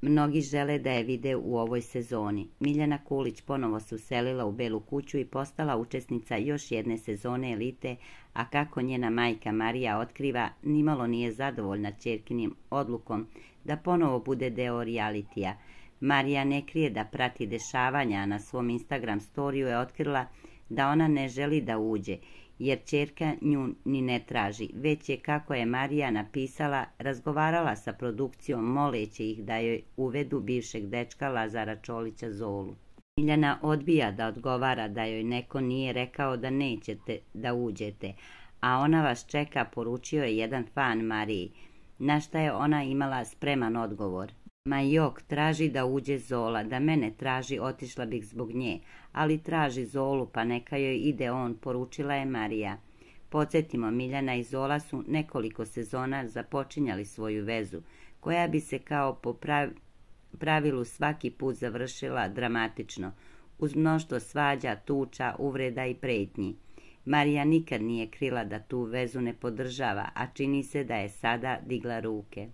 Mnogi žele da je vide u ovoj sezoni. Miljana Kulić ponovo se uselila u Belu kuću i postala učesnica još jedne sezone Elite, a kako njena majka Marija otkriva, nimalo nije zadovoljna ćerkinim odlukom da ponovo bude deo realitija. Marija ne krije da prati dešavanja, a na svom Instagram storiju je otkrila da ona ne želi da uđe, jer ćerka nju ni ne traži, već je, kako je Marija napisala, razgovarala sa produkcijom moleći ih da joj uvedu bivšeg dečka Lazara Čolića Zolu. Miljana odbija da odgovara da joj neko nije rekao da nećete da uđete, a ona vas čeka, poručio je jedan fan Mariji, na šta je ona imala spreman odgovor. Ma jok, traži da uđe Zola, da mene traži, otišla bih zbog nje, ali traži Zolu, pa neka joj ide on, poručila je Marija. Podsjetimo, Miljana i Zola su nekoliko sezona započinjali svoju vezu, koja bi se kao po pravilu svaki put završila dramatično, uz mnoštvo svađa, tuča, uvreda i pretnji. Marija nikad nije krila da tu vezu ne podržava, a čini se da je sada digla ruke.